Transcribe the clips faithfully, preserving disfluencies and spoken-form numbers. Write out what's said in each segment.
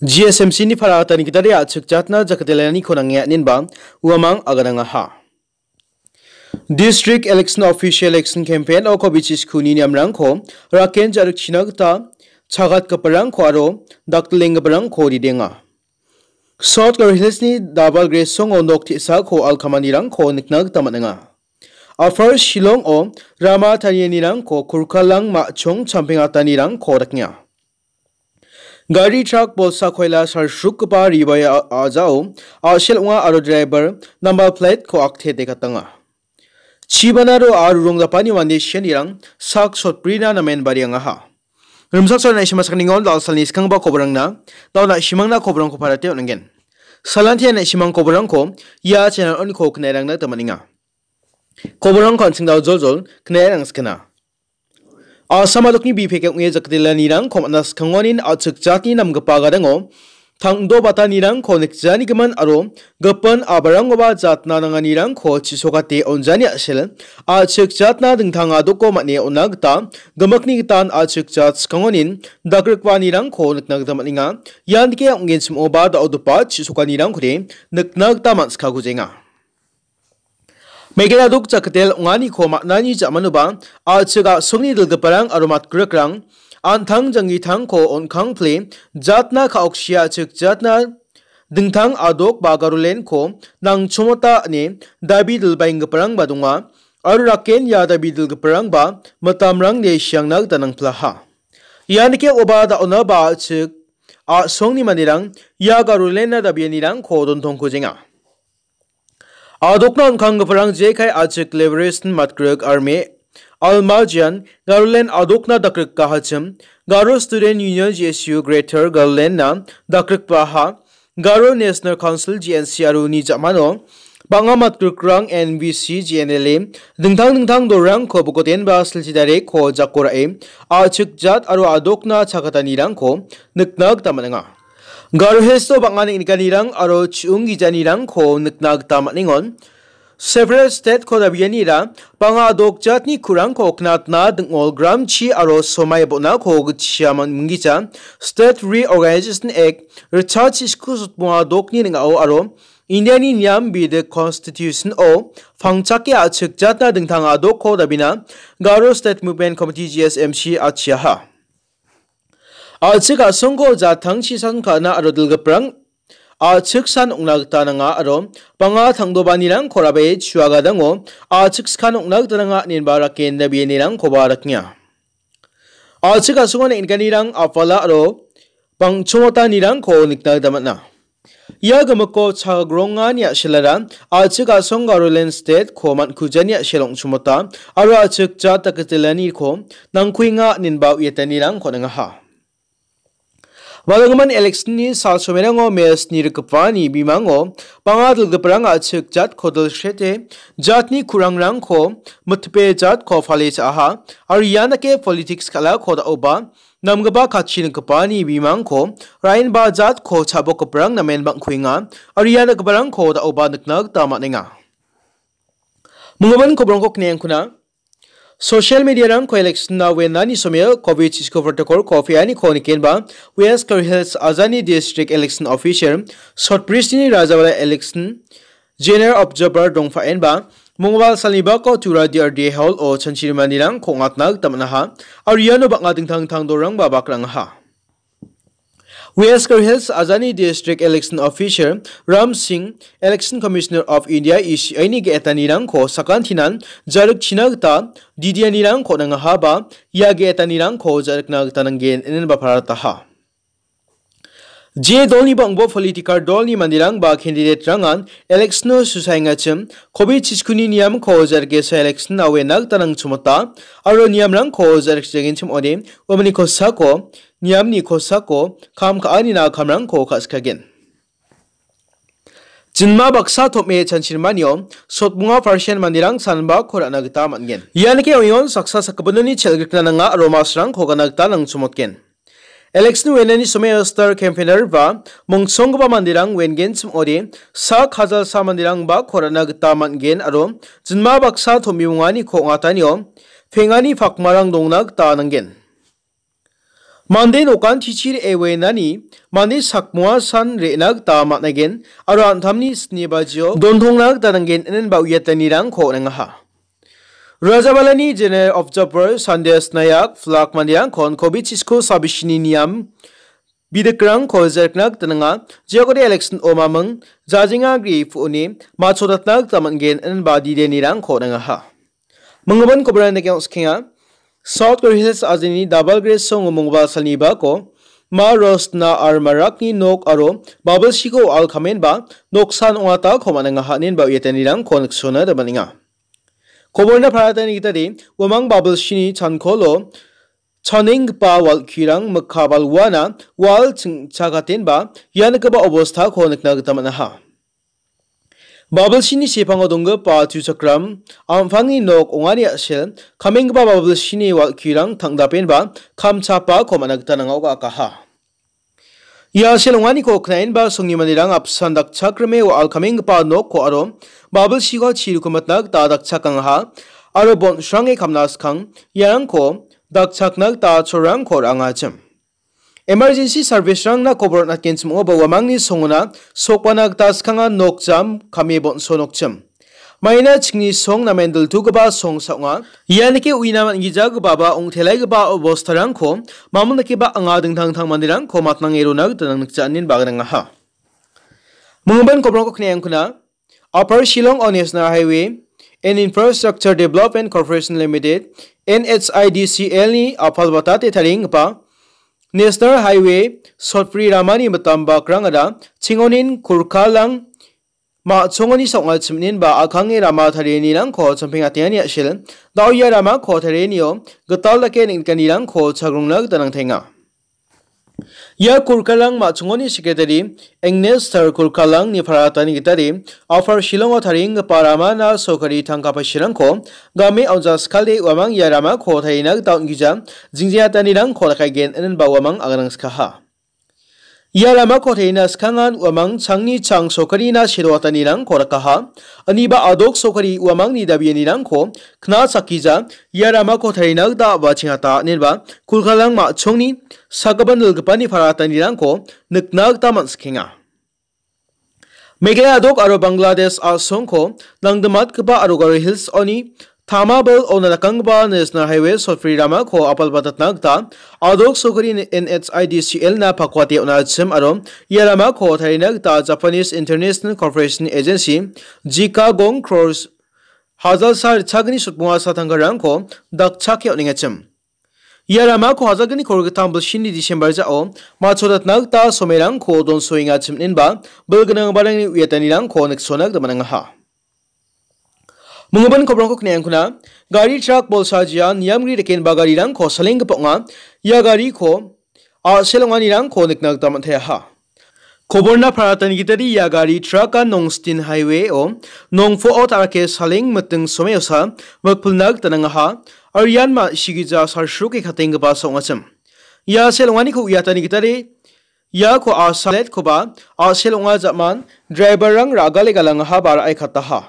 G S M C ni para atani gitade a·chik jatna jakatelaniko nange aninba uamang aganangaha. District Election Official Election Campaign o COVID niskuni niamrangko raken ja·rikchina gita chagatgiparangko aro dakdilenggiparangko ridenga. South Garo Hills ni Dabal Gresongo nok te·sako alkamanirangko nikna gita man·enga. Upper Shillong-o rama tarianirangko kurkalang ma·chong champeng atanirangko dakenga. Gari trak bolsa koila salsrukgipa ribai a-, a·jao a·sel ong·a aro driver number plate-ko akte dekatanga. Chibanaro aro ronggapani mande sianirang sak sotbrina namen bariangaha. Rimsak sal na·simang sakningon dal·salni skanggipa koborangna, dal·na·simangna koborangko parate on·angen. Salantia na·simang koborangko ia channel on-ko knairangna gita man·enga. Koborangko an·ching dal joljol knairang skana. Assam adokni bipek ong·e jakdelanirangko man·a skangonin a·chik jatni namgipa gadango tangdo batanirangko nikjani gimin aro gipin abarangoba jatna nanganirangko chisokate onjani a·sel a·chik jatna dingtang adoko man·e on·a gita gimikni gitan a·chik jat skangonin dagrikbaanirangko nikna gita man·enga. Ian dike ong·genchimoba da·odopa chisokanirangkode nikna gita man·sikakujenga. Megena dok jakdel ong·aniko man·ani ja·manoba a·chik a·songni dilgiparang aro matgrikrang an·tang janggitangko on·kangpile jatna ka·okchia a·chik jatna dingtang adok ba Garolenko nangchomota ine dabi dilbaenggiparangba donga aro raken ia dabi dilgiparangba mitamrangde siangna gita nangplaha. Ianike oba da·ona ba a·chik a·songni manderang ia Garolenna dabianirangko dontongkujenga. Adokna on·kanggiparang jekai a·chik Liberation Matgrik Army, Almajian, Garolen adokna dakgrikahachim, Garo Student Union G S U Greater Garolenna dakgrikbaha, Garo National Council G N C aro uni ja·mano bang·a matgrikrang N V C, G N L A, dingtang dingtang dolrangko bokotenba silchi dareko jako ra·e a·chik jat aro adokna chakatanirangko nikna gita man·enga. Garo Hills-o bang·a neng·nikanirang aro chi·ong gijanirangko nikna gita man·engon. Several state-ko dabianira bang·a adok jatni kurangko knatna ding·ol gramchi aro somai bonako gitchia man-, minggija State Reorganization Act ritchasi sku sotbonga dokni ning·ao aro Indiani niam bidik Constitution-o pangchake a·chik jatna dingtang adokko dabina Garo State Movement Committee, G S M C, achiaha. A·chik a·songko jatangchi san ka·na aro dilgiprang a·chik san ong·na gita nanga aro bang·a tangdobanirangko rabe chuagadango a·chik skan ong·na gita nanga inenba raken dabianirangkoba rakenga. A·chik a·songo neng·nikanirang apala aro bangchomotanirangko nikna gita man·a. Ia gimikko chagrongani a·selara a·chik a·song Garolen State-ko man·kujani a·sel ong·chimota aro a·chik jat dakgitelaniko nangkuenga inenba uiatanirangko on·engaha. Balgimin election-ni sal somerango mel sni rikgipani bimango bang·a dilgiparang a·chik jatko dilsrete jatni kurangrangko mitpe jatko pale cha·aha aro ian dake politics kal·ako da·oba namgipa katchi nikgipani bimangko raenba jatko cha·bokgiparang namen bang·kuenga aro ia nikgiparangko da·oba nikna gita man·enga. Minggimin kobrongko kneangkuna. Social media-rangko election-na wenani someo covid chisko protocol-ko pe·aniko nikenba West Garo Hills ajani District Election Officer Sotbrisni Rajawala Election General Observer dongpaenba, mongobal salni bako Tura D R D Hall-o chanchirimanirangko ong·atna gita man·aha, aro iano bang·a dingtang dingtang dolrangba bakrangaha. West Garo Hills ajani District Election Officer Ram Singh, Election Commissioner of India, E C I-ni ge·etanirangko sakantinan jarikchina gita didianirangko nangahaba, ia ge·etanirangko jarikna gita nanggen inenba parataha. Je dolni bang·bo political dolni manderang ba candidate-rangan election-o susaengachim, covid chiskuni niamko jargesa election-na wena gita nangchimota, aro niamrangko jarikjagenchim ode, uamani kosako, niamni kosako, kam ka·anina kamrangko ka·sikagen. Jinma baksa tom·e chanchirmanio sotbonga percent manderang sanbako ra·na gita man·gen. Ianike oion saksa sakgipinoni chel·grikna nanga aro masrangko gana gita nangchimotgen. Election wenani someo star campaigner ba mongsonggipa manderang wengenchim ode sak hajalsa manderang bako ra·na gita man·gen aro jinma baksa tom·e bonganiko ong·atanio pengani pakmarang dongna gita nanggen. Mande nokantichi re·e wenani mande sakmoa san re·na gita man·aigen aro an·tamni sni bajio dontongna gita nanggen inenba uiatanirangko on·engaha. Rajabalani General Observer Sandesh Nayak flak manderangkon covid chisko sabisini niam bidikrangko jerkna gita nanga, jeokode election omaming jajenga gri pu·oni machodatna gita man·gen inenba didenirangko on·engaha. Minggimin kobrang dake ong·skenga. South Garo Hills ajeni Double Gray song mongba salni bako Ma Rosna Armarakni nok aro babilsiko alkamenba noksan ong·atako man·engaha inenba uiatanirangko niksona dabaninga. Koborna paratani gitade uamang babilsini chankolo chanenggipa wal·kirang mikka balwana wal ching·chakatenba ia nikgipa obostako nikna gita man·aha. Babilsini sepango donggipa tuchakram, am·pangni nok ong·ani a·sel, kamenggipa babilsini wal·kirang tangdapenba kamchapako man·a gita nanga·o ga·akaha. Ia a·sel ong·aniko knaenba songni manderang apsan dakchakrime wa·al kamenggipa nokko aro babilsiko chi rukumatna gita dakchakangaha aro bon·srange kamna skang iarangko dakchakna gita cholrangko ra·angachim. Emergency service-rangna kobor on·atgenchim ong·a ba uamangni songona sokbana gita skanga nokjam kame bonso nokchim. Maina chingni song namen diltugipa song sa ong·a. Ia nike uina man·gijagipa ba ong·telaigipa obostarangko mamon dakeba anga dingtang dingtang manderangko matnange rona gita nang nikja anin bagrang aha. Minggimin kobrangko kneangkuna. Upper Shillong o National Highway and Infrastructure Development Corporation Limited, N H I D C L ni apalbatate tarienggipa National Highway sotbri ramani mitam bakrangara chingonin kurkalang ma·chongoni sa ong·achim inenba a·kange rama tarienirangko champeng atengani a·sel, da·o ia ramako tarienio gital dake neng·nikanirangko chagrongna gita nangtenga. Ia kurkalang ma·chongoni sekretari Agnes Tar kurkalangni paratani gitade Upper Shillongo tarienggipa ramana sorkari tangka paisirangko game aonja skale uamang ia ramako tarina gita on·gija jingjeatanirangko dakaigen inenba uamang aganangskaha. Ia ramako tarina skangan uamang changni chang sorkarina seroatanirangko dakaha. Aniba adok sorkari uamangni dabianirangko kna sakija ia ramako tarina gita a·bachengata inenba kurkalang ma·chongni sagipan dilgipani paratanirangko nikna gita man·sikenga. Meghalaya adok aro Bangladesh a·songko nangdimatgipa aro Garo Hills oni Tamabil ona dakanggipa National Highway sotbri ramako apalbatatna gita adok sorkari N H I D C L na pakwate on·achim aro ia ramako tarina gita Japanese International Corporation Agency, jika gong crores hajalsa ritchagni sotbonga satanggarangko dakchake on·engachim. Ia ramako hajalgni kolgittam bilsini December ja·o machodatna gita somerangko donsoengachim inenba bilgnangbarangni uiatanirangko niksona gita man·angaha. Minggimin kobrangko kneangkuna, gari trak bolsa jia niamgri dakenba garirangko salenggipa ong·a. Ia gariko a·sel ong·anirangko nikna gita man·teaha. Koborna paratani gitade ia gari traka Nongstin Highway-o nongpo·o ta·rake saleng miting someosa mikpilna gita nangaha. Aro ian ma·sigija salsroke katenggipa sa ong·achim. Ia a·sel ong·aniko uiatani gitade iako a·saletkoba a·sel ong·a ja·man driver-rang ra·gale galangaha ba ra·e kataha.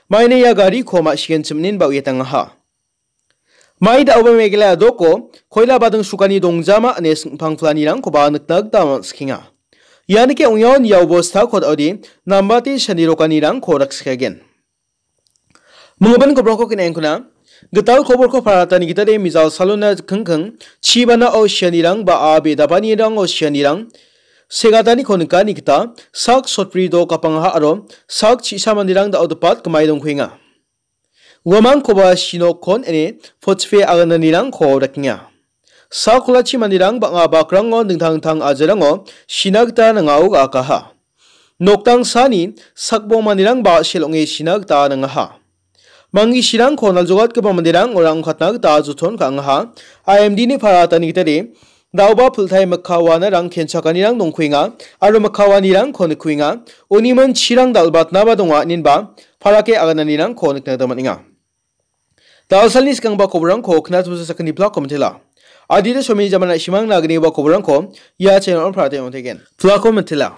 Maina ia gariko ma·sigenchim inenba uiatangaha. Mai da·oba Meghalaya doko koila bading sukani dongjama ine singpang planirangkoba nikna gita man·sikenga. Ianike ong·eon ia obostako da·ode nambate sanirokanirangko raksikagen. Minggimin kobrangko kneangkuna, gital koborko paratani gitade mijal salona kingking chibanao sianirang ba a be dapanirango sianirang segataniko nikani gita sak sotbri do gapangaha aro sak chisa manderang da·o dipat gimai dongkuenga. Uamangkoba sinokkon ine potchipe agananirangko dakenga. Sakolachi manderang bang·a bakrango dingtang dingtang ajerango sina gita nangao ga·akaha. Nokdangsani sakbong manderangba sel ong·e sina gita nangaha. Mangisirangko naljogatgipa manderang orang ong·katna gita joton ka·angaha. I M D-ni paratani gitade da·oba piltai mikka wanarang kenchakanirang dongkuenga aro mikka wanirangko nikuenga. Uniman chirang dal·batnaba donga, inenba parake agananirangko nikna gita man·enga. Dalsalni skangba koborangko knatbusa sakgni plako mitela. Adita someni jamana simangna agniba koborangko ia channel-on parate ong·tegen. Plako mitela.